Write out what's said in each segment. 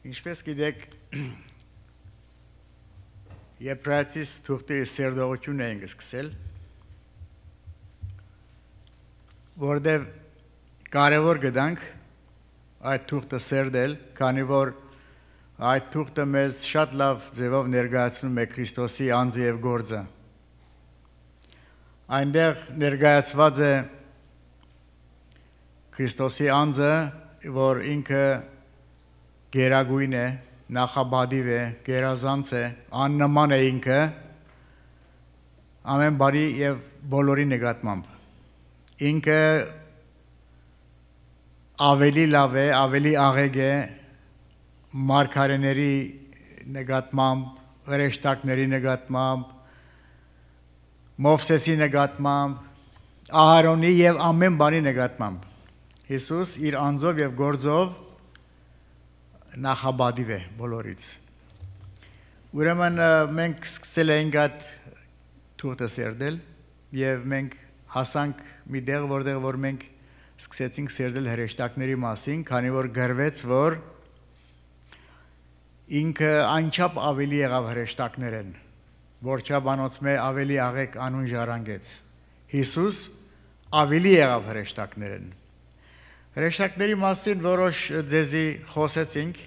Ինչպես գիտեք, Եբրայեցիս թուղթի սերդողությունն ենք սկսել, որտեղ կարևոր գտանք այդ թուղթը սերդել, քանի որ այդ թուղթը մեզ շատ լավ ձևով ներկայացնում է Քրիստոսի անձը եւ գործը։ Այնտեղ ներկայացված է Քրիստոսի անձը, որ ինքը գերագույն է, նախաբադիվ է, գերազանց է, աննման է ինքը, ամեն բարի եւ բոլորի նկատմամբ։ Ինքը ավելի լավ է, ավելի աղեկ է մարգարեների նկատմամբ, հրեշտակների նկատմամբ, Մովսեսի նկատմամբ, Ահարոնի եւ ամեն բանի նկատմամբ։ Հիսուս իր անձով եւ գործով նախաբադիվ է բոլորից։ Ուրեմն մենք սկսել ենք այդ թուղթը սերդել եւ մենք հասանք մի տեղ, որտեղ որ մենք սկսեցինք սերդել հրեշտակների մասին, քանի որ գրվեց, որ ինքը այնչափ ավելի եղավ հրեշտակներեն, որչափ անոնցմե ավելի աղեկ անուն ժառանգեց։ Հիսուս ավելի եղավ հրեշտակներեն։ Հրեշտակների մասին որոշ ձեզի խոսեցինք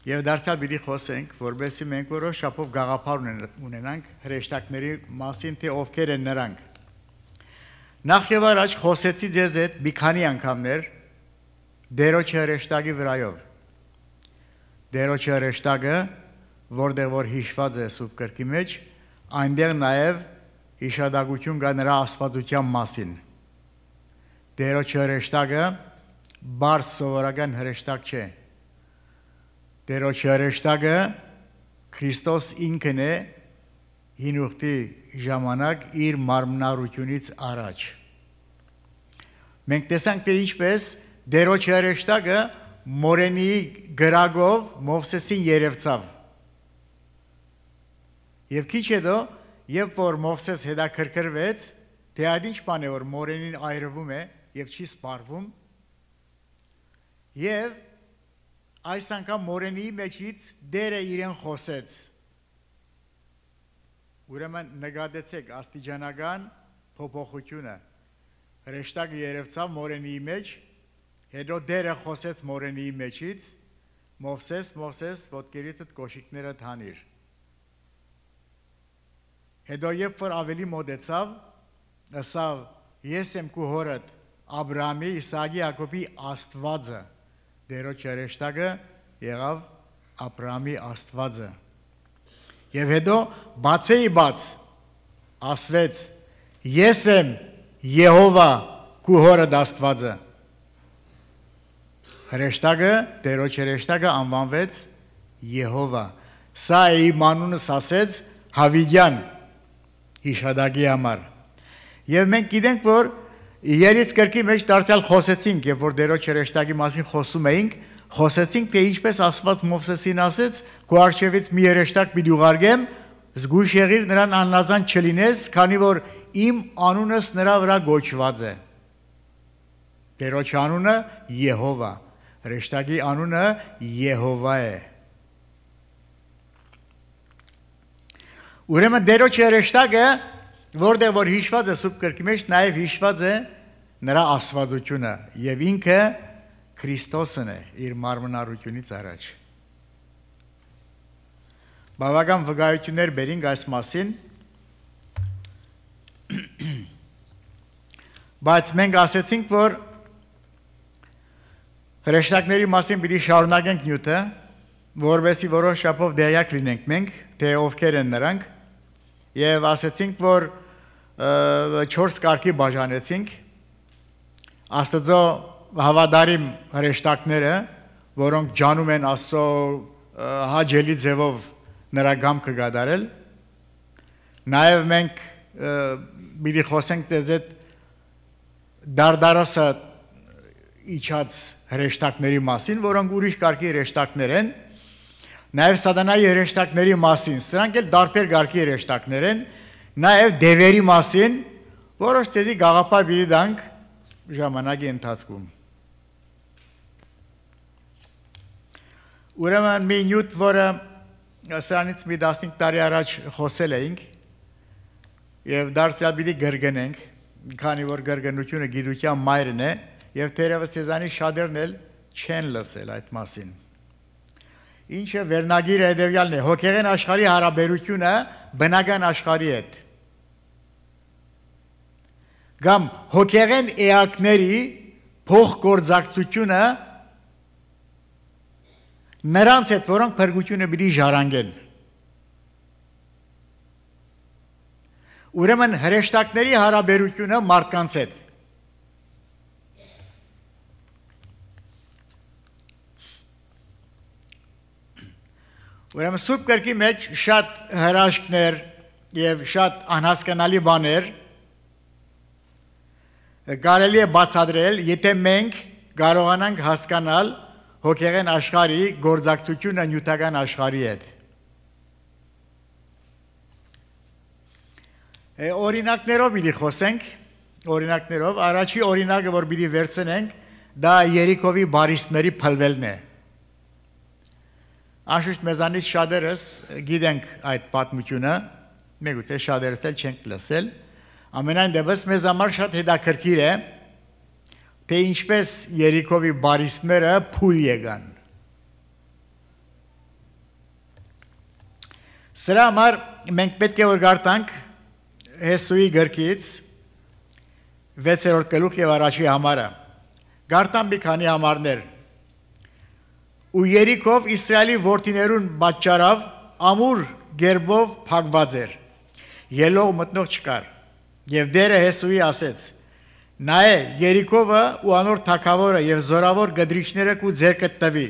եւ դարձյալ պիտի խոսենք, որովհետեւ մենք որոշ շապով գաղափար ունենանք հրեշտակների մասին, թե ովքեր են նրանք։ Նախ եւ առաջ խոսեցի ձեզ այդ մի քանի անգամներ Տերոջ հրեշտակի վրայով։ Տերոջ հրեշտակը, որտեղ որ հիշված է Սուրբ Գրքի մեջ, այնտեղ նաեւ հիշադակություն կա նրա աստվածության մասին։ Տերոջ հրեշտակը բարձ սովորական հրեշտակ չէ։ Տերոջ հրեշտակը Քրիստոս ինքն է հին ուխտի ժամանակ իր մարմնառությունից առաջ։ Մենք տեսանք, թե ինչպես Տերոջ հրեշտակը մորենի գրագով Մովսեսին երևցավ։ Եվ քիչ հետո, երբ որ Մովսես հետաքրքրվեց, թե այդ ինչ բան է, որ մորենին այրվում է եւ չի սպառվում, եւ այս անգամ մորենի մեջից Տերը իրեն խոսեց։ Ուրեմն նկատեցեք աստիճանական փոփոխությունը։ Հրեշտակը երևցավ մորենի մեջ, հետո Տերը խոսեց մորենի մեջից, Մովսես, ոտքերիցդ կոշիկները թանիր։ Հետո երբ որ ավելի մոտեցավ, ասավ, ես եմ քո հորդ Աբրահամի, Իսահակի, Յակոբի Աստվածը։ Տերոջ հրեշտակը եղավ Աբրահամի Աստվածը։ Եվ հետո բացեի բաց ասվեց, ես եմ Եհովա քո հորդ Աստվածը։ Հրեշտակը, Տերոջ հրեշտակը անվանվեց Եհովա։ Սա է իմ անունս ասեց Հավիդյան հիշադակի համար։ Եվ մենք գիտենք, որ Ելից գրքի մեջ դարձյալ խոսեցինք, երբ որ Տերոջ հրեշտակի մասին խոսում էինք, խոսեցինք, թե ինչպես Աստված Մովսեսին ասեց, քո առջևից մի հրեշտակ պիտի ուղարկեմ, զգույշ եղիր նրան աննազան չլինես, քանի որ իմ անունս նրա վրա գոչված է։ Տերոջ անունը Եհովա, հրեշտակի անունը Եհովա է։ Ուրեմն Տերոջ հրեշտակը, որտեղ որ հիշված է Սուրբ Գրքի մեջ, նաև հիշված է նրա աստվածությունը եւ ինքը Քրիստոսն է իր մարմնառությունից առաջ։ Բավական վկայություններ բերինք այս մասին, բայց մենք ասեցինք, որ հրեշտակների մասին պիտի շարունակենք նյութը, որովհետեւ որոշ չափով դերյակ լինենք մենք, թե ովքեր են նրանք, եւ ասեցինք, որ 4 կարգի բաժանեցինք Աստծո հավատարիմ հրեշտակները, որոնք ջանում են Աստծո հաճելի ձևով նրա գամքը գադարել։ Նաև մենք պիտի խոսենք ձեզ այդ դարդարոսը իջած հրեշտակների մասին, որոնք ուրիշ կարգի հրեշտակներ են, նաև սատանայի հրեշտակների մասին, սրանք էլ տարբեր կարգի հրեշտակներ են, նաև դևերի մասին, որոշ ձեզի գաղափար պիտի տանք ժամանակի ընթացքում։ Ուրեմն մի նյութ, որը սրանից մի 15 տարի առաջ խոսել էինք եւ դարձյալ պիտի գրգնենք, քանի որ գրգնությունը գիտության մայրն է եւ թերևս եզանի շատերն էլ չեն լսել այդ մասին։ Ինչը վերնագիրը հետևյալն է. հոգեղեն աշխարհի հարաբերությունը բնական աշխարհի հետ։ Կամ հոգեղեն էակների փոխգործակցությունը նրանց հետ, որոնք փրկությունը պիտի ժառանգեն։ Ուրեմն հրեշտակների հարաբերությունը մարդկանց հետ։ Ուրեմն Սուրբ Գրքի մեջ շատ հրաշքներ եւ շատ անհասկանալի բաներ կարելի է բացատրել, եթե մենք կարողանանք հասկանալ հոգեղեն աշխարհի գործակցությունը նյութական աշխարհի հետ։ Օրինակներով պիտի խոսենք, օրինակներով, առաջի օրինակը, որ պիտի վերցնենք, դա Երիքովի բարիսպների փլվելն է։ Անշուշտ մեզանից շատերս գիտենք այդ պատմությունը, միգուցե շատերս էլ չենք լսել, ամենայն դեպս մեզ համար շատ հետաքրքիր է, թե ինչպես Երիքովի բարիսպները փուլ եկան։ Սրա համար մենք պետք է որ գարտանք Հեսուի գրքից 6-րդ գլուխ եւ առաջի համարը։ Գարտան մի քանի համարներ։ Ու Երիքով Իսրայելի որդիներուն պատճառով ամուր գերբով փակված էր։ Ելող մտնող չկար։ Եվ Տերը Հեսուի ասեց. նայե Երիքովը ու անոր թագավորը եւ զորավոր գդրիչները կու ձեր կտվի։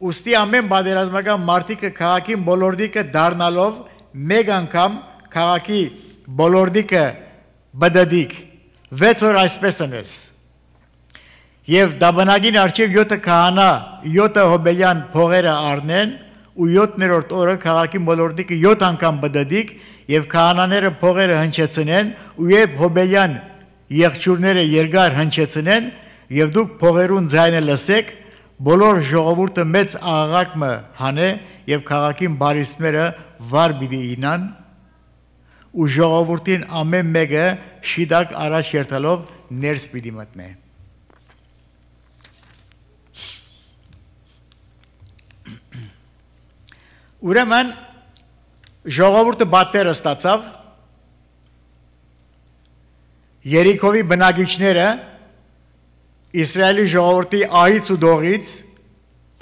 Ուստի ամեն պատերազմական մարտիկը քաղաքին բոլորդիկը դառնալով մեկ անգամ քաղաքի բոլորդիկը բդդիկ 6 օր այսպես անես։ Եվ դաբանագին արջև 7 քահանա 7 հոբելյան փողերը առնեն ու 7-րդ օրը քաղաքի բոլորդիկը 7 անգամ բդդիկ եւ քահանաները փողերը հնչեցնեն ու եւ հոբելյան եղջյուրները երկար հնչեցնեն եւ դուք փողերուն ձայնը լսեք բոլոր ժողովուրդը մեծ աղաղակը հանե եւ քաղաքին բարիսպները վար պիտի ինան ու ժողովուրդին ամեն մեկը շիդակ առաջ երթալով ներս պիտի մտնե։ Ուրեմն ժողովուրդը բատվերը ստացավ, Երիքովի բնակիչները Իսրայելի ժողովրդի ահից ու դողից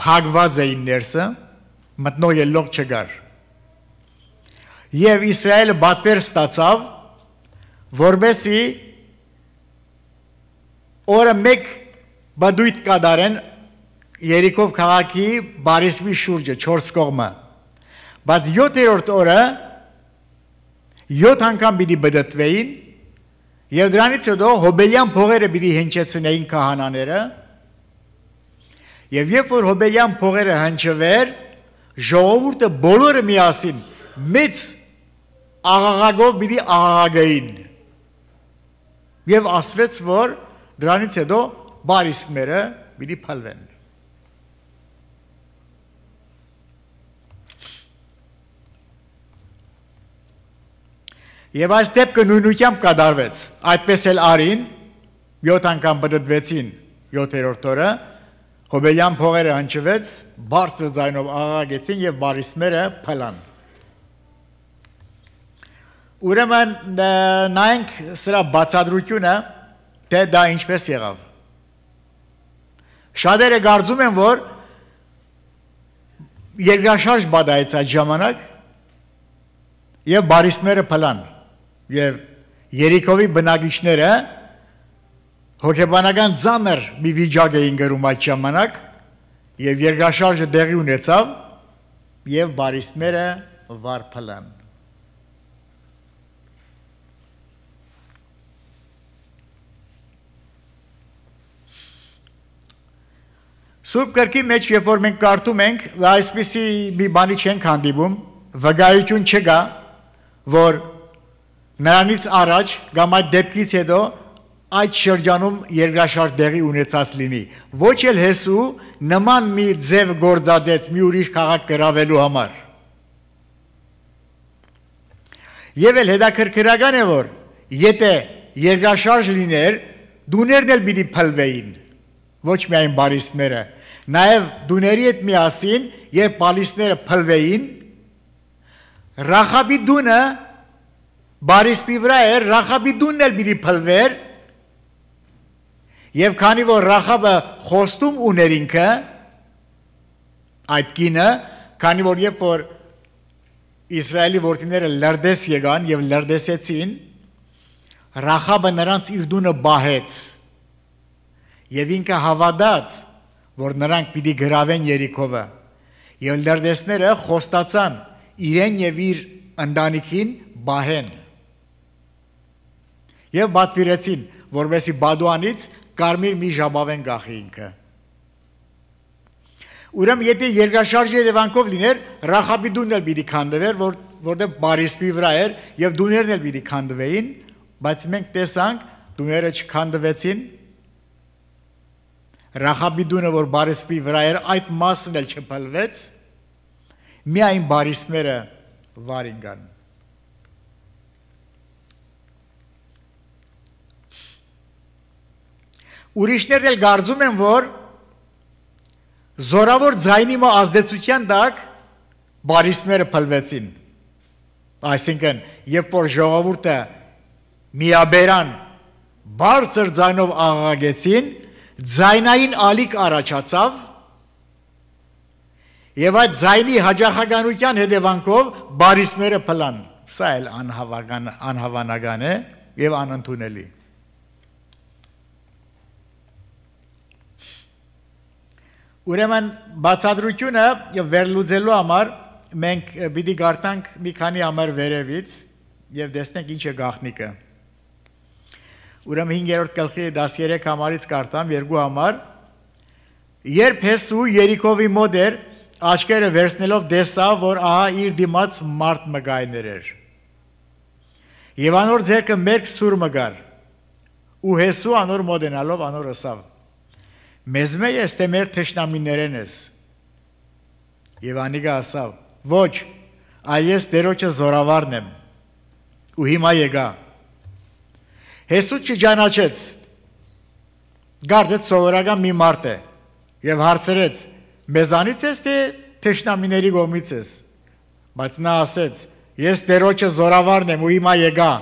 փակված էին ներսը, մտնող ելող չկար։ Եվ Իսրայելը բատվեր ստացավ, որբեսի օրը մեկ բադույթ կադարեն Երիքով քաղաքի բարիսպի շուրջը 4 կողմը։ Բայց 7-րդ օրը 7 անգամ պիտի բդդվեին եւ դրանից հետո հոբելյան փողերը պիտի հնչեցնեին քահանաները եւ երբ որ հոբելյան փողերը հնչվեր ժողովուրդը բոլորը միասին մեծ աղաղակով պիտի աղաղակեին եւ ասվեց որ դրանից հետո բարիսպները պիտի փլվեն։ Եվ այս դեպքը նույնությամբ կատարվեց, այդպես էլ արին, 7 անգամ բդդվեցին 7-րդ օրը, հոբելյան փողերը հնչվեց, բարձր ձայնով աղաղակեցին եւ բարիսպները փլան։ Ուրեմն նայենք սրա բացատրությունը, թե դա ինչպես եղավ։ Շատերը կարծում են, որ երկրաշարժ բադայեց այդ ժամանակ եւ բարիսպները փլան։ Եվ Երիքովի բնակիչները հոգեբանական ծանր մի վիճակ էին գրում այդ ժամանակ եւ երկրաշարժը տեղի ունեցավ եւ բարիսպները վար փլան։ Սուրբ Գրքի մեջ երբ որ մենք կարդում ենք, այսպիսի մի բանի չենք հանդիպում, վկայություն չկա, որ նրանից առաջ կամ այդ դեպքից հետո այդ շրջանում երկրաշարժ դեղի ունեցած լինի։ Ոչ էլ Հեսու նման մի ձև գործածեց մի ուրիշ քաղաք գրավելու համար։ Եվ էլ հետաքրքրական է, որ եթե երկրաշարժ լիներ, դուներն էլ պիտի փլվեին, ոչ միայն բարիսպները, նաև դուների հետ միասին, երբ պալիսները փլվեին, Ռախաբի դունը բարիսպի վրա էր, Ռախաբի դունն էլ պիտի փլվեր, եւ քանի որ Ռախաբը խոստում ուներ ինքը, այդ կինը, քանի որ երբ որ Իսրայելի որդիները լրդես եկան եւ լրդեսեցին, Ռախաբը նրանց իր դունը բահեց եւ ինքը հավատաց, որ նրանք պիտի գրավեն Երիքովը եւ լրդեսները խոստացան իրեն եւ իր ընտանիքին բահեն եւ բատվիրեցին, որովհետեւ Բադուանից կարմիր մի ժապավեն գախի ինքը։ Ուրեմն եթե երկրաշարժի հետևանքով լիներ, Ռախաբի դունն էլ պիտի քանդվեր, որտեղ բարիսպի վրա էր եւ դուներն էլ պիտի քանդվեին, բայց մենք տեսանք դուները չքանդվեցին։ Ռախաբի դունը, որ բարիսպի վրա էր, այդ մասն էլ չփլվեց, միայն բարիսպները վարին գան։ Ուրիշներն էլ կարծում են, որ զորավոր ձայնի ազդեցության տակ բարիսպները փլվեցին։ Այսինքն, երբ որ ժողովուրդը միաբերան բարձր ձայնով աղաղակեցին, ձայնային ալիք առաջացավ եւ այդ ձայնի հաջողականության հետևանքով բարիսպները փլան։ Սա էլ անհավանական է եւ անընդունելի։ Ուրեմն բացատրությունը եւ վերլուծելու համար մենք պիտի գարտանք մի քանի համար վերևից եւ տեսնենք ինչ է գաղտնիքը։ Ուրեմն 5-րդ գլխի 13 համարից կարտամ երկու համար։ Երբ Հեսու Երիքովի մոտ էր, աչքերը վերցնելով տեսավ, որ ահա իր դիմաց մարդ մգայներ էր։ Եվ անոր ձեռքը մերկ սուր մգար։ Ու Հեսու անոր մոտենալով անոր ասավ. Մեզ ես թե մեր թշնամիներեն ես։ Եվ անիկը ասավ. Ոչ, այս Տերոջը զորավարն եմ։ Ու հիմա եկա։ Հեսու չճանաչեց։ Գարդեց սովորական մի մարդ է եւ հարցրեց. Մեզանից ես թե թշնամիների կողմից ես։ Բայց նա ասեց. Ես Տերոջը զորավարն եմ ու հիմա եկա։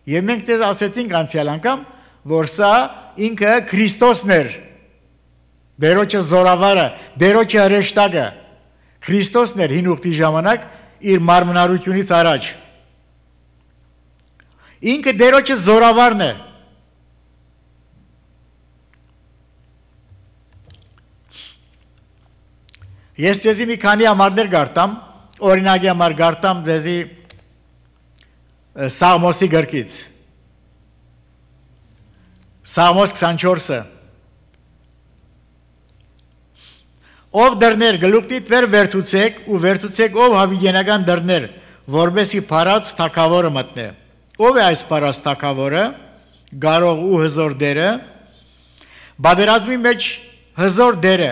Եվ մենք ձեզ ասեցինք անցյալ անգամ, որ սա ինքը Քրիստոսն էր, Տերոջը զորավարը, Տերոջը հրեշտակը, Քրիստոսն էր հին ուխտի ժամանակ իր մարմնարությունից առաջ։ Ինքը Տերոջը զորավարն է։ Ես ձեզի մի քանի համարներ գարտամ, օրինակի համար գարտամ ձեզի Սաղմոսի գրքից։ Սաղմոս 24-ը Ով դռներ գլուխտիդ վեր վերցուցեք ու վերցուցեք ով հավիգենական դռներ, որբեսի փարած թագավորը մտնե։ Ով է այս փարած թագավորը, գարող ու հզոր դերը, բادرազմի մեջ հզոր դերը։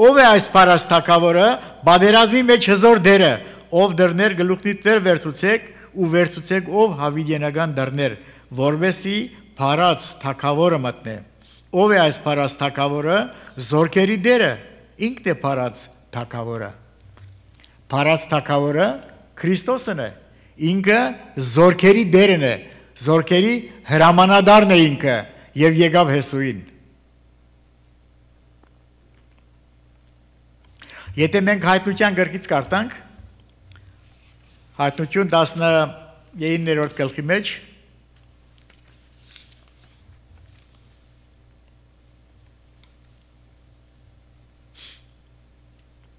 Ով է այս փարած թագավորը, բادرազմի մեջ հզոր դերը, ով դռներ գլուխտիդ վեր վերցուցեք ու վերցուցեք ով հավիգենական դռներ, որբեսի փարած թագավորը մտնե։ Ով է այս փարած թագավորը, զորքերի դերը, ինքն է փարած թագավորը։ Փարած թագավորը Քրիստոսն է, ինքը զորքերի դերն է, զորքերի հրամանատարն է ինքը եւ եկավ Հեսուին։ Եթե մենք հայտնության գրքից կարտանք, հայտնություն 19-րդ գլխի մեջ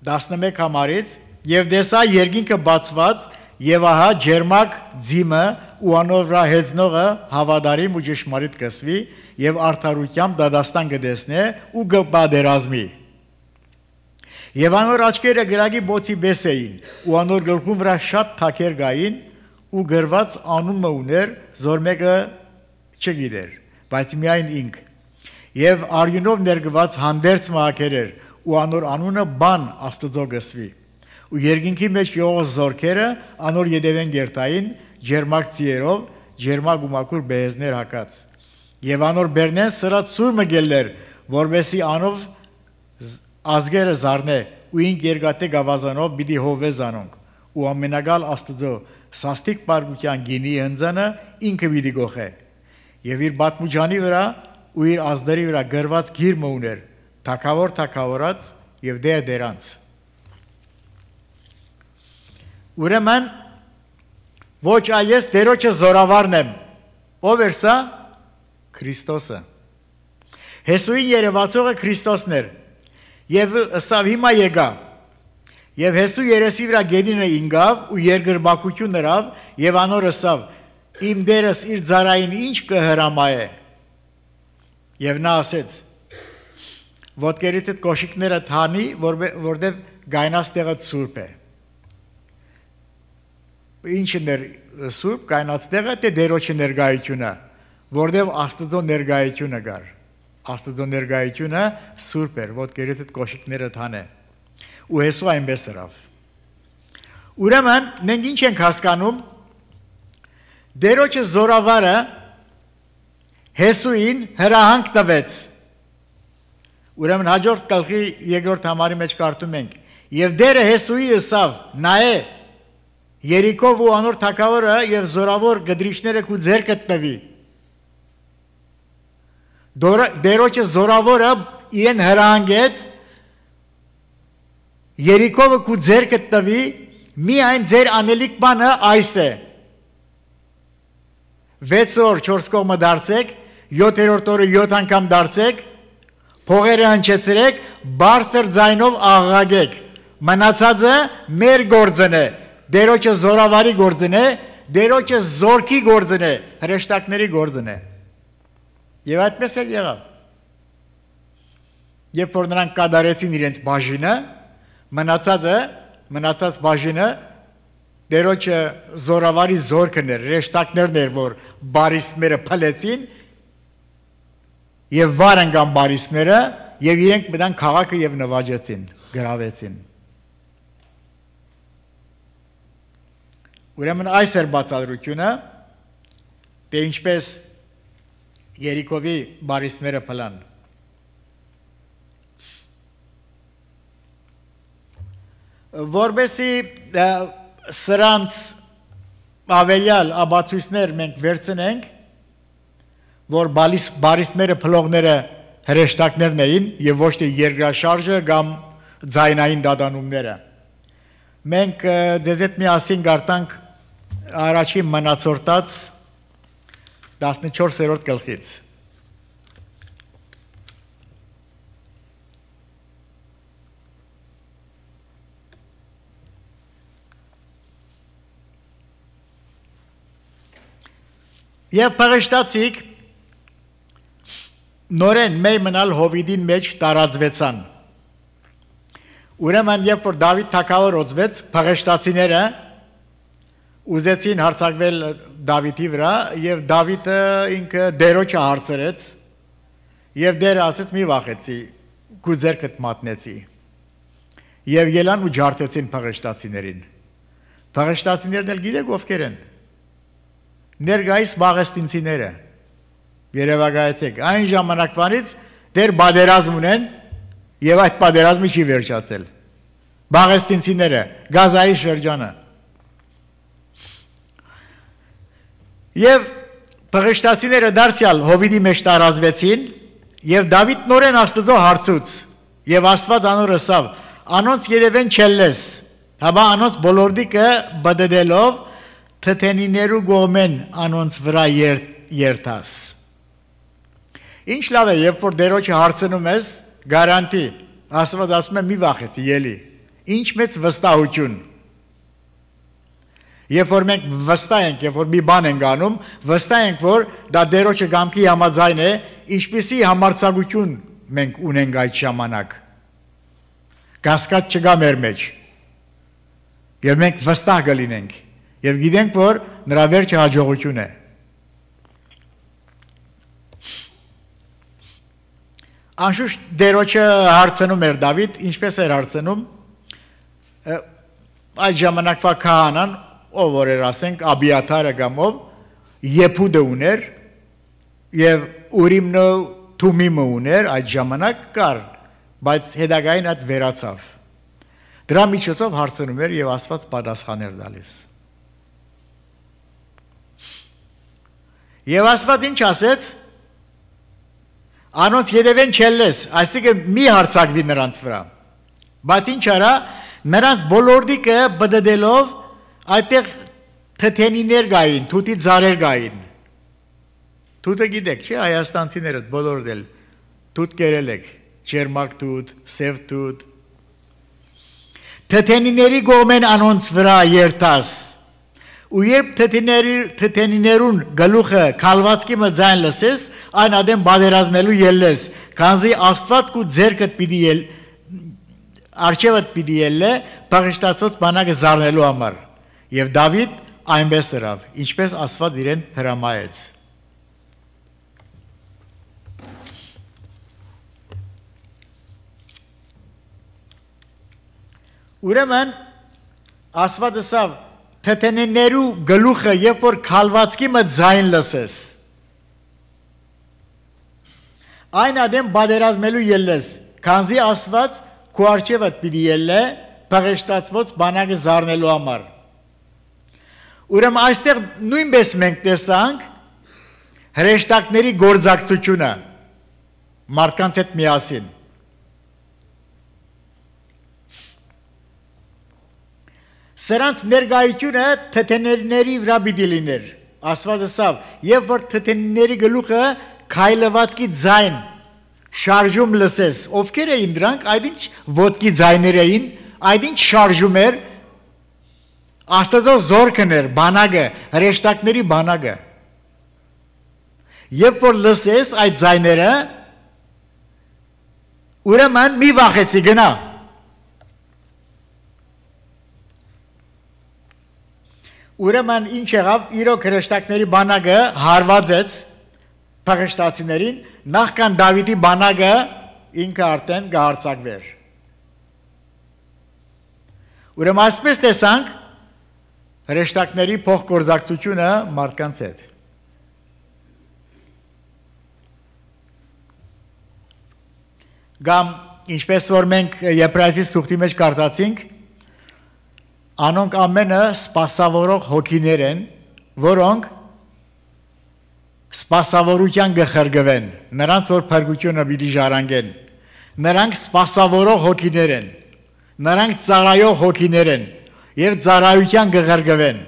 11 համարից եւ դեսա երկինքը բացված եւ ահա ջերմակ ձիմը ու անոր վրա հեծնողը հավատարիմ ու ճշմարիտ կսվի եւ արդարությամբ դադաստան կդեսնե ու կբادرազմի եւ անոր աչքերը գրագի բոցի բես էին ու անոր գլխում վրա շատ թակեր գային ու գրված անունը ուներ, զոր մեկը չգիտեր, բայց միայն ինք։ Եվ արյունով ներգված հանդերձ մահակեր էր, ու անոր անունը բան Աստծո գսվի։ Ու երկինքի մեջ եղող զորքերը անոր յետևեն գերտային, ջերմակ ծիերով, ջերմակ ու մաքուր բեզներ հակած։ Եվ անոր բերնեն սրած սուր մգելներ, որովհետեւ անով ազգերը զարնե, ու ինք երկատե գավազանով պիտի հովե զանոնք, ու ամենագալ Աստծո սաստիկ պարգության գինի հնձանը ինքը պիտի գողե։ Եվ իր բատմուջանի վրա ու իր ազդերի վրա գրված գիրմը ուներ, թակավոր թակավորած եւ դերանց։ Ուրեմն ոչ այես դերոջը զորավարն եմ, ով էր սա? Քրիստոսը։ Հեսուի երևացողը Քրիստոսն էր, եւ սավ հիմա եկա, եւ Հեսու երեսի վրա գեդինը ինգավ ու երկրբակություն նրան, եւ անոր սավ իմ դերս իր ծարային ինչ կհրամայե։ Եվ նա ասեց. ոտքերից այդ կոշիկները թանի, որտեվ գայնաստեղը սուրբ է։ Ինչն էր սուրբ գայնաստեղը, թե դերոջի ներկայությունը, որտեվ Աստծո ներկայությունը գար։ Աստծո ներկայությունը սուրբ էր, ոտքերից այդ կոշիկները թանե։ Ու Հեսու այնպես ըրավ։ Ուրեմն մենք ինչ ենք հասկանում, դերոջը զորավարը Հեսուին հրահանգ տվեց։ Ուրեմն հաջորդ գլխի երկրորդ համարի մեջ կարդում ենք. եւ դերը Հեսուի ըսավ, նայե, Երիկով ու անոր թագավորը եւ զորավոր գդրիչները քու ձեռքը տվի։ Դերոջը զորավորը իրեն հրահանգեց Երիկովը քու ձեռքը տվի, միայն ձեր անելիք բանը այս է։ 6 օր 4 կողմը դարձեք, 7-րդ օրը 7 անգամ դարձեք, փողերը հնչեցրեք, բարձր ձայնով աղաղակեք։ Մնացածը մեր գործն է, դերոջը զորավարի գործն է, դերոջը զորքի գործն է, հրեշտակների գործն է։ Եվ այդպես էլ եղավ։ Երբ որ նրանք կատարեցին իրենց բաժինը, մնացած բաժինը դերոջը զորավարի զորքն էր, հրեշտակներն էր, որ բարիսմերը փլեցին եւ վարան կան բարիսմերը եւ իրենք մտան քաղաքը եւ նվաճեցին, գրավեցին։ Ուրեմն այս էր բացատրությունը, թե ինչպես Երիկովի բարիսմերը փլան։ Որբեսի սրանց ավելյալ աբացույցներ մենք վերցնենք, որ բարիսմերը փլողները հրեշտակներն էին եւ ոչ թե երկրաշարժը կամ ձայնային դադանումները։ Մենք ձեզ հետ միասին գարտանք առաջի մնացորդած 14-րդ գլխից։ Եվ փղշտացիք նորեն մեյ մնալ հովիդին մեջ տարածվեցան։ Ուրեմն երբ որ Դավիթ թագավոր օծվեց, փղշտացիները ուզեցին հարձակվել Դավիթի վրա եւ Դավիթը ինքը դերոջը հարցրեց եւ դերը ասեց մի վախեցի, քու ձեռքդ մատնեցի։ Եվ ելան ու ջարդեցին փղշտացիներին։ Փղշտացիներն էլ գիտեք ովքեր են։ Ներգայիս բաղեստինցիները, երևակայեցեք, այն ժամանակվանից դեր բادرազմ ունեն և այդ բادرազմը չի վերջացել, բաղեստինցիները, գազայի շրջանը, և փղշտացիները դարձյալ հովիդի մեջ տարածվեցին և Դավիթ նորեն Աստծո հարցուց և Աստված անոր ըսավ, անոնց երևեն չելես, հաբա անոնց բոլորդիկը բդդելով թթենիներու գոմեն անոնց վրա երթաս։ Ինչ լավ է, երբ որ դերոջը հարցնում ես, գարանտի, Աստված ասում է մի վախեցի, ելի, ինչ մեծ վստահություն։ Երբ որ մենք վստահ ենք, երբ որ մի բան ենք անում, վստահ ենք, որ դա դերոջը կամքի համաձայն է, ինչպիսի համարձակություն մենք ունենք այդ ժամանակ։ Կասկած չկա մեր մեջ։ Եվ մենք վստահ կլինենք։ Եվ գիտենք, որ նրա վերջը հաջողություն է։ Անշուշտ դերոջը հարցնում էր Դավիթ, ինչպես էր հարցնում, այդ ժամանակվա քահանան, ով որ էր ասենք Աբիաթարը կամ ով, Եփուդը ուներ եւ Ուրիմն ու Թումիմը ուներ այդ ժամանակ կար, բայց հետագային այդ վերացավ։ Դրա միջոցով հարցնում էր եւ Աստված պատասխաներ տալիս։ Եվ Աստված ինչ ասեց. Անոնց յետևեն չելես, այսինքն մի հարցակվի նրանց վրա։ Բայց ինչ արա, նրանց բոլորդիկը բդդելով այդտեղ թթենիներ գային, թութի ձարեր գային։ Թութը գիտեք, չէ, հայաստանցիները բոլորդ էլ թութ կերել եք, ջերմակ թութ, սև թութ։ Թթենիների գոմեն անոնց վրա երթաս։ Ու երբ թթենիներուն գլուխը քալվածքի մը ձայն լսես, այն ադեմ բادرազմելու ելես, քանզի Աստված կու ձերքդ պիտի ել արջևդ պիտի ելը բաղշտացած բանակը զարնելու համար։ Եվ Դավիթ այնպես ըրավ, ինչպես Աստված իրեն հրամայեց։ Ուրեմն Աստված ասավ թթենիներու գլուխը երբ որ քալվածքի մը ձայն լսես այն ադեմ բادرազմելու ելես քանզի Աստված քու արջևդ պիտի ելը բաղշտացված բանակը զարնելու համար ուրեմն այստեղ նույնպես մենք տեսանք հրեշտակների գործակցությունը մարդկանց հետ միասին Սրանց ներգայությունը թթենիների վրա պիտի լիներ Աստված ասավ եւ որ թթենիների գլուխը քայլվածքի ձայն շարժում լսես ովքեր էին դրանք այդ ինչ ոտքի ձայներ էին այդ ինչ շարժում էր Աստծո զորքն էր բանակը հրեշտակների բանակը Երբ որ լսես այդ ձայները ուրեմն մի վախեցի գնա Ուրեմն ինչ եղավ իրոք հրեշտակների բանակը հարվածեց փախստացիներին նախքան Դավիթի բանակը ինքը արդեն գահարցակվեր Ուրեմն այսպես տեսանք հրեշտակների փոխգործակցությունը մարդկանց հետ Գամ ինչպես որ մենք Եբրայեցիս թուղթի մեջ կարդացինք Անոնք ամենը սպասավորող հոգիներ են, որոնք սպասավորության գխրգվեն, նրանց որ փրկությունը պիտի ժառանգեն, նրանք սպասավորող հոգիներ են, նրանք ծառայող հոգիներ են եւ ծառայության գխրգվեն,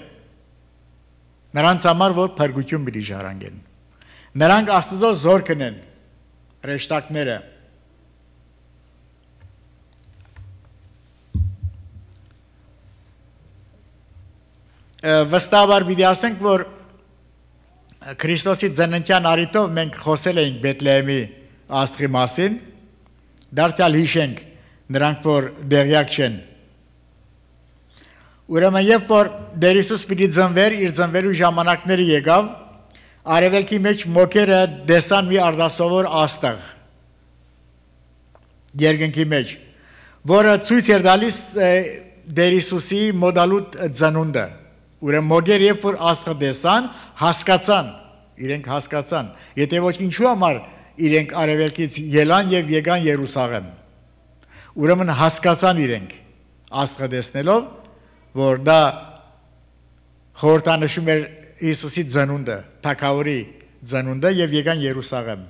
նրանց համար որ փրկություն պիտի ժառանգեն, նրանք Աստծո զորքն են, հրեշտակները Վստահաբար պիտի ասենք, որ Քրիստոսի ծննդյան առիթով մենք խոսել էինք Բեթլեհեմի աստղի մասին, դարձյալ հիշենք նրանք, որ դեղյակ չեն։ Ուրեմն երբ որ Տեր Հիսուս պիտի ծնվեր, իր ծնվելու ժամանակները եկավ, արևելքի մեջ մոքերը տեսան մի արդասովոր աստղ երկնքի մեջ, որը ցույց էր տալիս Տեր Հիսուսի մոդալուտ ծնունդը Ուրեմն մոգեր երբ որ աստղը տեսան, հասկացան, իրենք հասկացան, եթե ոչ ինչու համար իրենք արևելքից ելան եւ եկան Երուսաղեմ։ Ուրեմն հասկացան իրենք աստղը տեսնելով, որ դա խորհրդանշում էր Հիսուսի ծնունդը, Թագավորի ծնունդը եւ եկան Երուսաղեմ։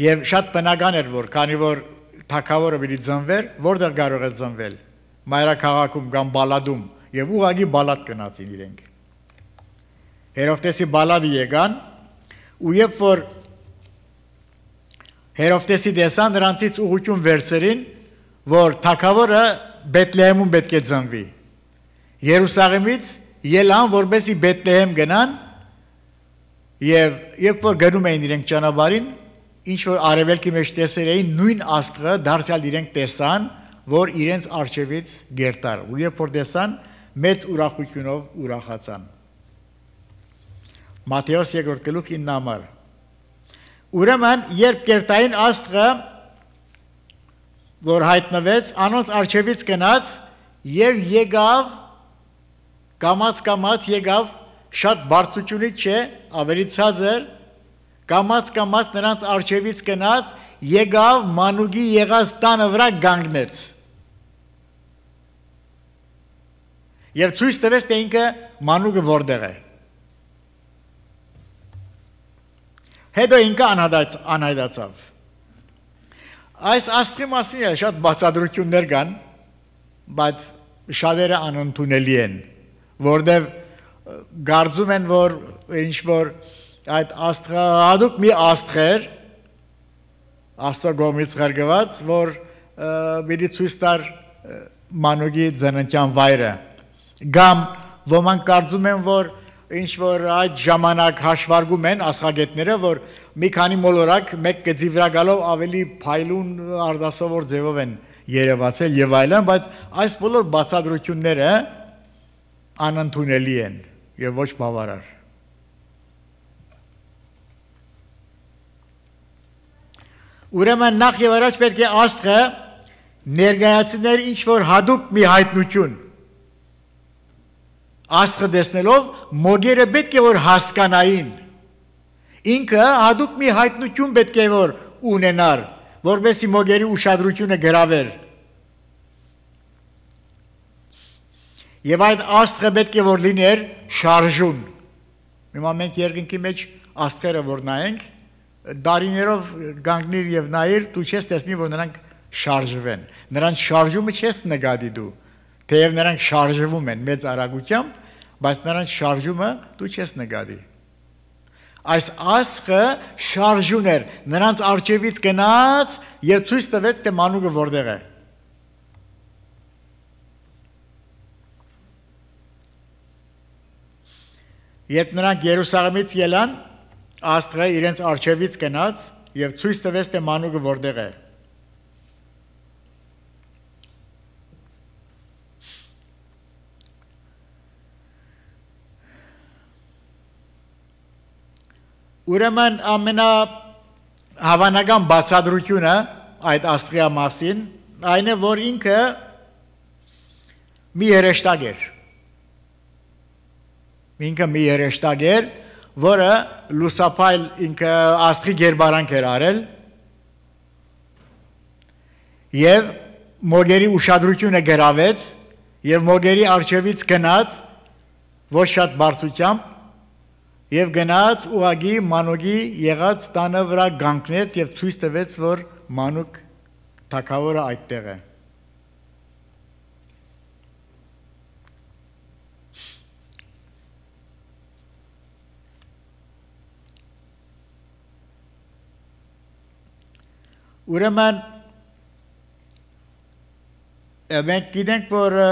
Եվ շատ բնական էր, որ քանի որ Թագավորը պիտի ծնվեր, որտեղ կարող է ծնվել, մայրաքաղաքում կամ բալադում, եւ ուղղակի բալադ գնացին իրենք։ Հերովտեսի բալադը եկան, ու երբ որ Հերովտեսի տեսան, նրանցից ուղղություն վերցրին, որ Թագավորը Բեթլեհեմում պետք է ծնվի։ Երուսաղեմից ելան, որպեսզի Բեթլեհեմ գնան, եւ երբ որ գնում էին իրենք ճանապարհին, ինչ որ արևելքի մեջ տեսել էին նույն աստղը դարձյալ իրենք տեսան որ իրենց արջևից գերտար ու երբ որ տեսան մեծ ուրախությունով ուրախացան Մատթեոս 2-րդ գլուխ 9 համար Ուրեմն երբ գերտային աստղը որ հայտնվեց անոնց արջևից գնաց եւ եկավ կամած եկավ շատ բարձրությունից չէ ավելի ցածր կամած նրանց արջևից գնաց եկավ մանուկի եղած տանը վրա գանգնեց եւ ցույց տվեց թե ինքը մանուկը որտեղ է հետո ինքը անհայտացավ այս աստղի մասին շատ բացատրություններ կան բայց շատերը անընդունելի են որտեղ գարձում են որ ինչ որ այդ աստղը հատուկ մի աստղ էր աստծո կողմից ղրկված որ պիտի ցույց տար մանուկի ծննդյան վայրը կամ ոմանք կարծում են որ ինչ որ այդ ժամանակ հաշվարկում են աստղագետները որ մի քանի մոլորակ մեկ գծի վրա գալով ավելի փայլուն արդասովոր ձևով են երևացել եւ այլն բայց այս բոլոր բացատրությունները անընդունելի են եւ ոչ բավարար Ուրեմն նախ եւ առաջ պետք է աստղը ներկայացնել ինչ որ հատուկ մի հայտնություն Աստղը տեսնելով մոգերը պետք է որ հասկանային ինքը հատուկ մի հայտնություն պետք է որ ունենար որովհետեւ մոգերի ուշադրությունը գրավեր եւ այդ աստղը պետք է որ լիներ շարժուն հիմա մենք երկնքի մեջ աստղերը որ նայենք դարիներով գանգնիր եւ նայիր դու չես տեսնի որ նրանք շարժվեն նրանց շարժումը չես նկատի դու թեև նրանք շարժվում են մեծ արագությամբ բայց նրանց շարժումը դու չես նկատի այս աստղը շարժուն էր նրանց արջևից գնաց եւ ցույց տվեց թե մանուկը որտեղ է երբ նրանք Երուսաղեմից ելան աստղը իրենց արջևից գնաց եւ ցույց տվեց թե մանուկը որտեղ է Ուրեմն ամենահավանական բացատրությունը այդ աստղի մասին այն է որ ինքը մի երեշտակ էր որը լուսապայլ ինքը աստղի գերբարանք էր արել եւ մոգերի ուշադրությունը գրավեց եւ մոգերի արջևից գնաց ոչ շատ բարձրությամբ Եվ գնաց ուղագի մանուկի եղած տանը վրա գանգնեց եւ ցույց տվեց որ մանուկ թագավորը այդտեղ է Ուրեմն մենք գիտենք որ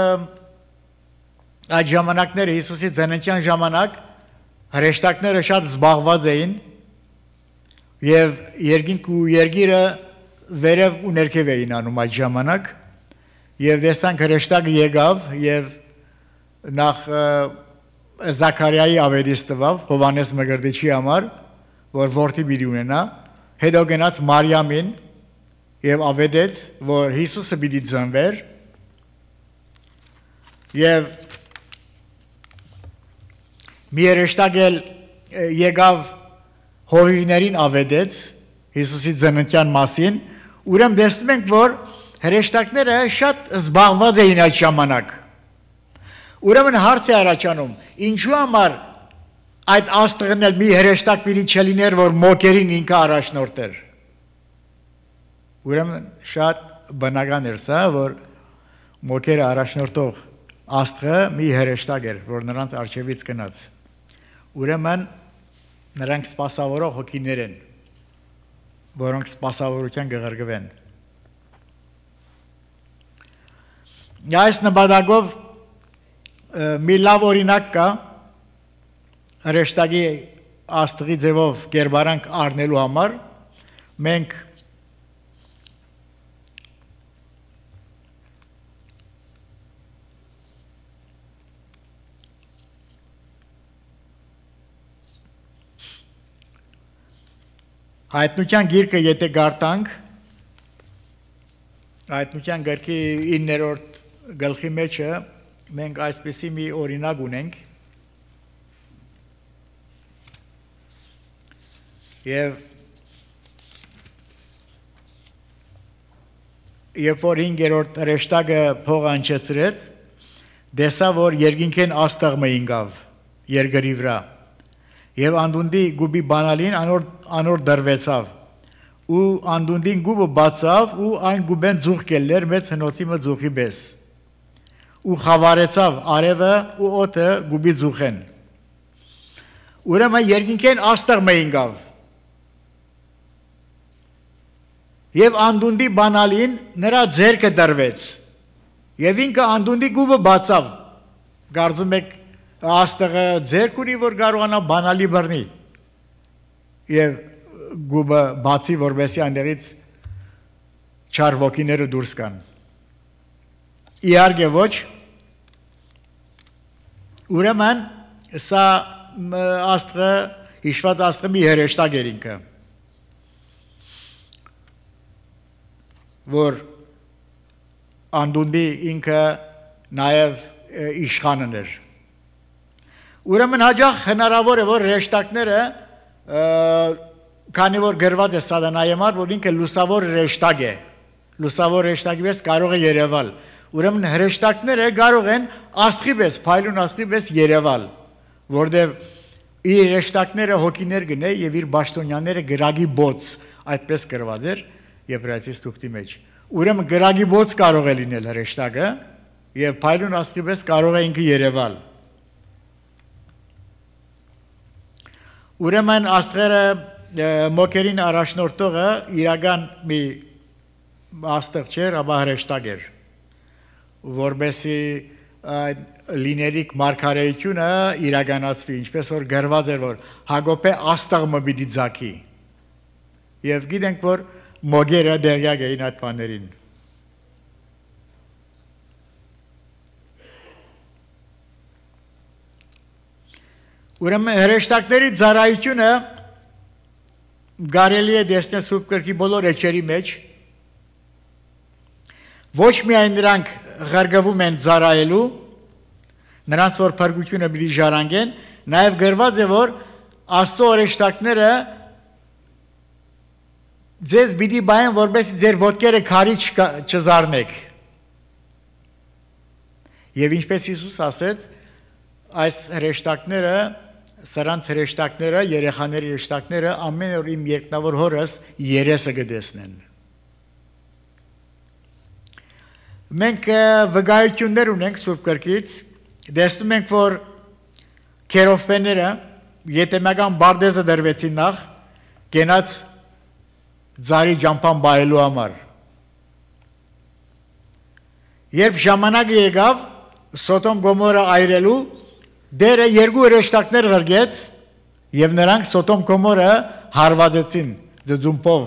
այդ ժամանակները Հիսուսի ծննդյան ժամանակ Հրեշտակները շատ զբաղված էին եւ երկինք ու երկիրը վերև ու ներքև էին անում այդ ժամանակ եւ տեսանք հրեշտակը եկավ եւ նախ Զաքարիայի ավերից տվավ Հովանես Մկրտիչի համար որ որդի պիտի ունենա հետո գնաց Մարիամին եւ ավետեց որ Հիսուսը պիտի ծնվեր եւ Մի երեշտակ եկավ հովիվներին ավետեց Հիսուսի ծննդյան մասին, ուրեմն տեսնում ենք, որ հրեշտակները շատ զբաղված էին այդ ժամանակ։ Ուրեմն հարց է առաջանում, ինչու համար այդ աստղն էլ մի հրեշտակ պիտի չլիներ, որ մոգերին ինքը առաջնորդեր։ Ուրեմն շատ բնական էր սա, որ մոգերը առաջնորդող աստղը մի հրեշտակ էր, որ նրանց առջևից գնաց։ Ուրեմն նրանք սպասավորող հոգիներ են, որոնք սպասավորության կղրկվեն։ Այս նպատակով մի լավ օրինակ կա հրեշտակի աստղի ձևով կերպարանք առնելու համար մենք Հայտնության գիրքը եթե գարտանք, հայտնության գրքի 9-րդ գլխի մեջը մենք այսպիսի մի օրինակ ունենք եւ երբ որ 5-րդ հրեշտակը փող անջեցրեց, դեսա որ երկինքեն աստղը ինգավ երկրի վրա եւ անդունդի գուբի բանալին անոր դրվեցավ ու անդունդին գուբը բացավ ու այն գուբեն ձուխ կելներ մեծ հնոցի մը ձուխի բես ու խավարեցավ արևը ու օդը գուբի ձուխեն ուրեմն երկինքեն աստղը ինգավ եւ անդունդի բանալին նրա ձեռքը դրվեց եւ ինքը անդունդի գուբը բացավ գարձում եք աստղը ձեռք ունի որ կարողանա բանալի բռնի եւ գուբը բացի որովհետեւ այնտեղից չար ոգիները դուրս կան իհարկե ոչ ուրեմն սա աստղը հիշված աստղը մի հրեշտակ էր ինքը որ անդունդի ինքը նաեւ իշխանն էր Ուրեմն հաջող հնարավոր է որ հրեշտակները քանի որ գրված է սատանայի համար որ ինքը լուսավոր հրեշտակ է լուսավոր հրեշտակի պես կարող է երևալ ուրեմն հրեշտակները կարող են աստղի պես փայլուն աստղի պես երևալ որտեղ իր հրեշտակները հոգիներ գնե եւ իր բաշտոնյաները գրագի բոց այդպես գրված էր Եբրայեցիս թուղթի մեջ ուրեմն գրագի բոց կարող է լինել հրեշտակը եւ փայլուն աստղի պես կարող է ինքը երևալ Ուրեմն աստղերը մոկերին առաջնորդողը իրական մի աստղ չէր, ապա հրեշտակ էր, որբեսի լինելիք մարգարեությունը իրականացվի, ինչպես որ գրված էր, որ Հակոբե աստղը պիտի ձգի։ Եվ գիտենք, որ մոգերը դերյակ էին այդ բաներին։ Ուրեմն հրեշտակների ծառայությունը կարելի է տեսնել Սուրբ Գրքի բոլոր էջերի մեջ ոչ միայն նրանք ղարգվում են ծառայելու նրանց որ փրկությունը պիտի ժառանգեն նաև գրված է որ Աստծո հրեշտակները ձեզ պիտի բայեն որպես ձեր ոտքերը քարի չզարնեք եւ ինչպես Հիսուս ասեց այս հրեշտակները Սրանց հրեշտակները, երեխաների հրեշտակները ամեն օր իմ երկնավոր հորս երեսը կտեսնեն։ Մենք վկայություններ ունենք Սուրբ Գրքից, տեսնում ենք, որ քերովբեները ետեմական բարդեզը դրվեցին նախ, գենաց ծառի ճամփան բայելու համար։ Երբ ժամանակը եկավ Սոդոմ Գոմորը այրելու Դերը երկու հրեշտակներ ղրգեց եւ նրանք Սոդոմ Գոմորը հարվածեցին, ձձումբով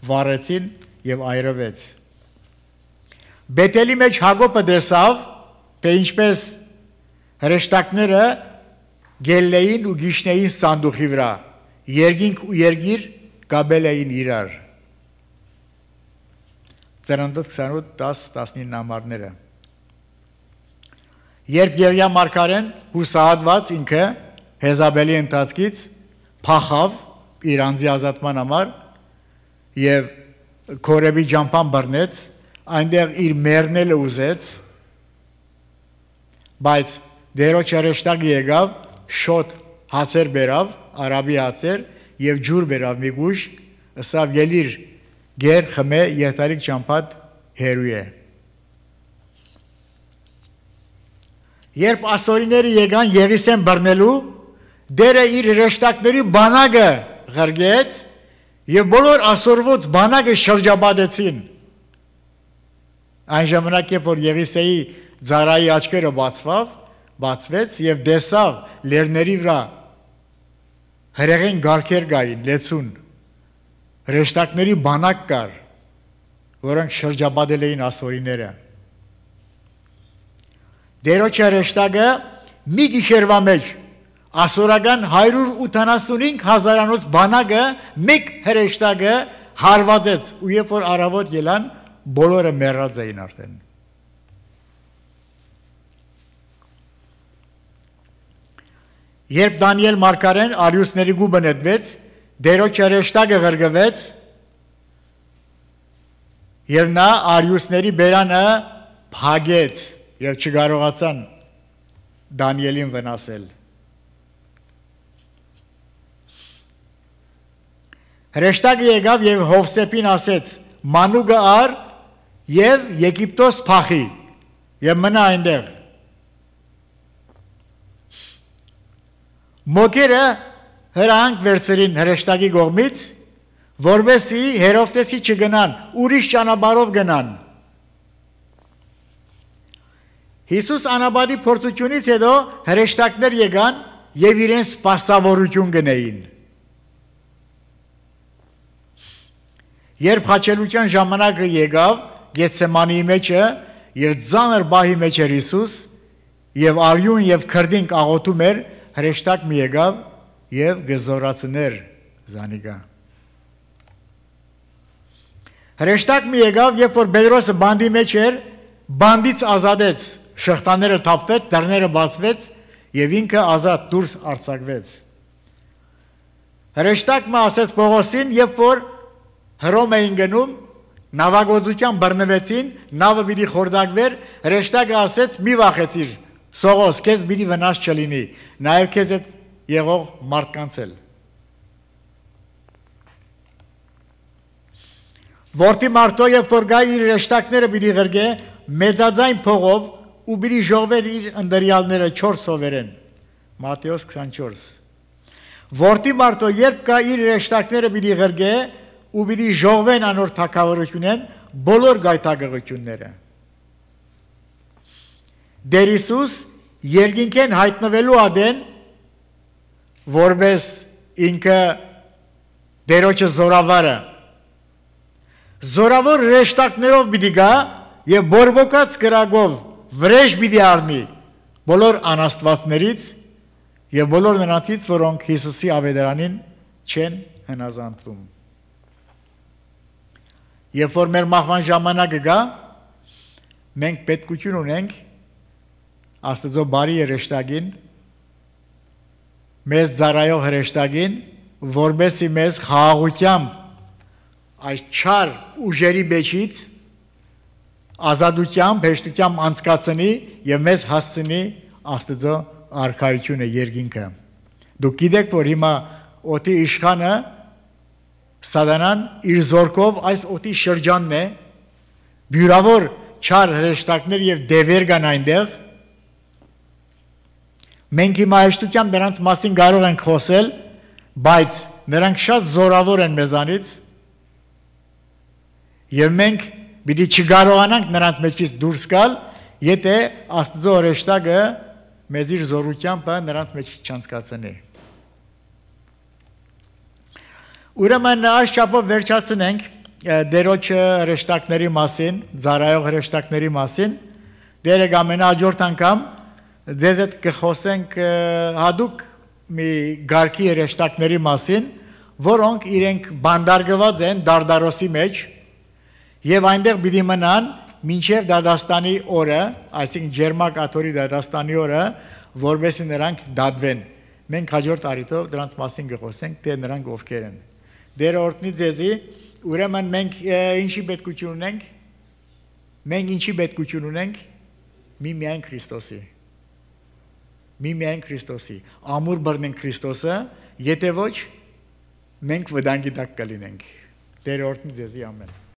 վառեցին եւ այրվեց։ Բեթելի մեջ Հակոբը տեսավ, թե ինչպես հրեշտակները գելլեին ու գիշնեին սանդուղի վրա, երկինք ու երգիր գաբել էին իրար։ Ծննդոց 28-10-19 համարները Երբ Եղիա մարգարեն հուսահատված ինքը Հեզաբելի ընթացքից փախավ իր անձի ազատման համար եւ Քորեբի ճամփան բռնեց, այնտեղ իր մեռնելը ուզեց, բայց դերոջ հրեշտակը եկավ, շոտ հացեր բերավ, արաբի հացեր եւ ջուր բերավ մի գուշ, ըսավ ելիր գեր խմե երթալիք ճամփատ հերու է։ Երբ ասորիները եկան Եղիսեն բռնելու, դերը իր հրեշտակների բանակը ղրգեց եւ բոլոր ասորված բանակը շրջապատեցին։ Այն ժամանակ երբ որ Եղիսեի ծառայի աչքերը բացվեց եւ տեսավ լեռների վրա հրեղեն գարքեր կային, լեցուն, հրեշտակների բանակ կար, որոնք շրջապատել էին ասորիները։ Դերոջ հրեշտակը մի գիշերվա մեջ ասորական 185 հազարանոց բանակը մեկ հրեշտակը հարվածեց ու երբ որ առավոտ ելան բոլորը մեռած էին արդեն Երբ Դանիել մարգարեն արիուսների գուբը նետվեց, դերոջ հրեշտակը ղրգվեց և նա արիուսների բերանը փագեց և չկարողացան Դանիելին վնասել։ Հրեշտակը եկավ և Հովսեփին ասեց. «Մանուկը առ և Եգիպտոս փախի և մնա այնտեղ»։ Մոգերը հրանք վերցրին հրեշտակի կողմից, որպեսզի Հերովդեսի չգնան, ուրիշ ճանապարհով գնան։ Հիսուս անապատի փորձությունից հետո հրեշտակներ եկան և իրեն սպասավորություն գնեին։ Երբ խաչելության ժամանակը եկավ Գեթսեմանիի մեջը և ծանր բահի մեջ էր Հիսուս և արյուն և քրդինք աղոթում էր, հրեշտակ մի եկավ և գզորացներ զանիկա։ Հրեշտակ մի եկավ, երբ որ Պետրոսը բանդի մեջ էր, բանդից ազատեց, շղթաները թափվեց, դռները բացվեց և ինքը ազատ դուրս արձակվեց։ Հրեշտակը ասեց Պողոսին, երբ որ Հռոմ էին գնում, նավագործության բռնվեցին, նավը պիտի խորտակվեր, հրեշտակը ասեց՝ մի վախեցիր, Սողոս, քեզ պիտի վնաս չլինի, նաև քեզ հետ եղող մարդկանց էլ։ Որդի մարդո, երբ որ գա իր հրեշտակները պիտի ղրգե, մեծաձայն փողով ու պիտի ժողվեր իր ընտրյալները 4 սովերեն։ Մատթեոս 24։ Որդի մարդո, երբ գա իր հրեշտակները պիտի ղրգե ու պիտի ժողվեն անոր թագավորությունեն բոլոր գայթակղությունները։ Դեր Հիսուս երկինքեն հայտնվելու ադեն, որպես ինքը դերոջը զորավարը, զորավոր հրեշտակներով պիտի գա և բորբոքած կրակով վրեժ պիտի առնի բոլոր անաստվածներից և բոլոր նրանցից, որոնք Հիսուսի ավետարանին չեն հնազանդվում։ Երբ որ մեր մահվան ժամանակը գա, մենք պետքություն ունենք Աստծո բարի հրեշտակին, մեզ ծառայող հրեշտակին, որպեսզի մեզ խաղաղությամբ այս չար ուժերի մեջից ազատությամբ, հեշտությամբ անցկացնի և մեզ հասցնի Աստծո արքայությունը երկինքը։ Դուք գիտեք, որ հիմա օդի իշխանը Սատանան իր զորքով այս օդի շրջանն է, բյուրավոր չար հրեշտակներ և դևեր կան այնտեղ։ Մենք հիմա հեշտությամբ նրանց մասին կարող ենք խոսել, բայց նրանք շատ զորավոր են մեզանից և մենք պիտի չկարողանանք նրանց մեջից դուրս գալ, եթե Աստծո հրեշտակը մեզ իր զորությամբ նրանց մեջ չանցկացնի։ Ուրեմն այս չափով վերջացնենք դերոջ հրեշտակների մասին, ծառայող հրեշտակների մասին, դերը ամենահաջորդ անգամ ձեզ հետ կխոսենք հատուկ մի գարքի հրեշտակների մասին, որոնք իրենք բանդարգված են Դարդարոսի մեջ և այնտեղ պիտի մնան մինչև դատաստանի օրը, այսինքն ջերմակ աթոռի դատաստանի օրը, որպեսզի նրանք դատվեն։ Մենք հաջորդ առիթով դրանց մասին կխոսենք, թե նրանք ովքեր են։ Դերը օրհնի ձեզի, ուրեմն մենք ինչի պետքություն ունենք։ Մենք ինչի պետքություն ունենք։ Միմիայն Քրիստոսի։ Միմիայն Քրիստոսի։ Ամուր բռնենք Քրիստոսը, եթե ոչ մենք վտանգի տակ կլինենք։ Դերը օրհնի ձեզի, ամեն։